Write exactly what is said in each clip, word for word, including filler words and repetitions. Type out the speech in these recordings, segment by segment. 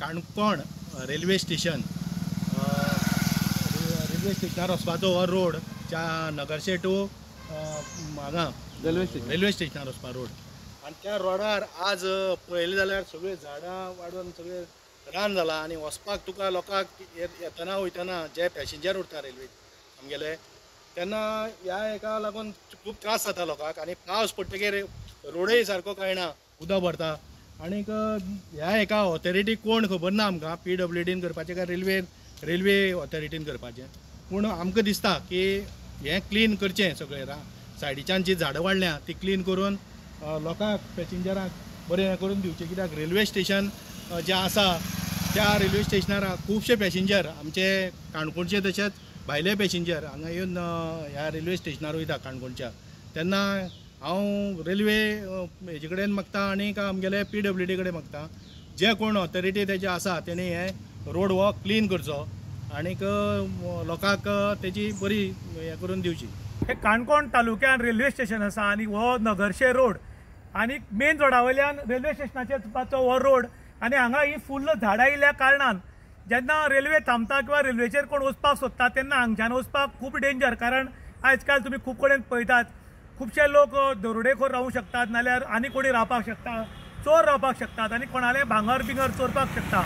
Canacona railway station railway स्टेशनार वचपाचो हो रोड च्या नगरशे टू हांगा रेल्वे स्टेशन रेल्वे स्टेशनार वचपा रोड आनी त्या रोडार आज पळयलें जाल्यार सगळीं झाडां वाडून सगळें रान जालां आनी वचपाक तुका लोकांक येतना वयतना जे पॅसेंजर उरता रेल्वे आमगेले तेन्ना ह्या हेका लागून खूब त्रास जाता लोकांक आनी पावस पडटकीर रोडय सारको कळना, उदक भरता आनीक ह्या हेका ऑथॉरिटी कोण खबर ना आमकां, पी डब्ल्यू डीन करपाचें काय रेल्वे रेल्वे ऑथॉरिटीन करपाचें, पूण आमकां दिसता की हें क्लीन करचें सगळें रा सायडीच्यान जी झाडां वाडल्या ती क्लीन करून लोकांक पॅसेंजरांक बरें हें करून दिवचें, कित्याक रेल्वे स्टेशन जें आसा त्या रेल्वे स्टेशनार खुबशे पॅसेंजर आमचे काणकोणचे तशेंच भायले पॅसेंजर हांगा येवन ह्या रेल्वे स्टेशनार वयता काणकोणच्या, तेन्ना हांव रेल्वे हेजे कडेन मागता आनी आमगेले पी डब्ल्यू डी कडेन मागता, जे कोण ऑथॉरिटी तेजे आसा तेणी हे रोड हो क्लीन करचो आनीक लोकांक तेजी बरी हें करून दिवची. हे काणकोण तालुक्यान रेल्वे स्टेशन आसा आनी हो नगरशे रोड आनी मेन रोडा वयल्यान रेल्वे स्टेशनाचेर वचपाचो हो रोड आनी हांगा ही फुल्ल झाडां आयिल्ल्या कारणान जेन्ना रेल्वे थांबता किंवा रेल्वेचेर कोण वचपाक सोदता तेन्ना हांगच्यान वचपाक खूब डेंजर, कारण आयज काल तुमी खूब कडेन पळयतात खुबशे लोक दरोडेखोर रावूंक शकतात, नाल्यार आनी कोणी रावपाक शकता, चोर रावपाक शकतात आनी कोणाले भांगर बिंगर चोरपाक शकता.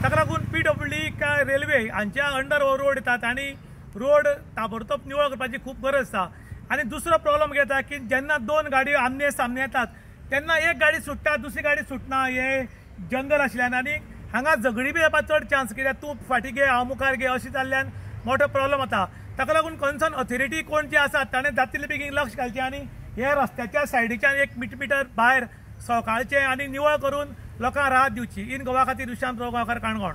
ताका लागून पी डब्ल्यू डी काय रेल्वे हांच्या अंडर हो रोड येतात आनी रोड ताबडतोब निवळ करपाची खूब गरज आसा. आनी दुसरो प्रॉब्लम येता की जेन्ना दोन गाडयो आमने सामने येतात तेन्ना एक गाडी सुट्टा दुसरी गाडी सुटना, हे जंगल आशिल्ल्यान आनी हांगा झगडी बी जावपाक चड चान्स, कित्याक तूं फाटीं घे हांव मुखार घे अशें जाल्ल्यान मोठो प्रॉब्लम जाता. ताका लागून कन्सर्न ऑथॉरिटी कोण जे आसात ताणें जातले बेगीन लक्ष घालचें आनी हे रस्त्याच्या सायडीच्यान एक मिटर भायर सकाळचें आनी निवळ करून लोकांक राहत दिवची. इन गोवा खातीर विश्राम प्रभु गांवकार, काणकोण.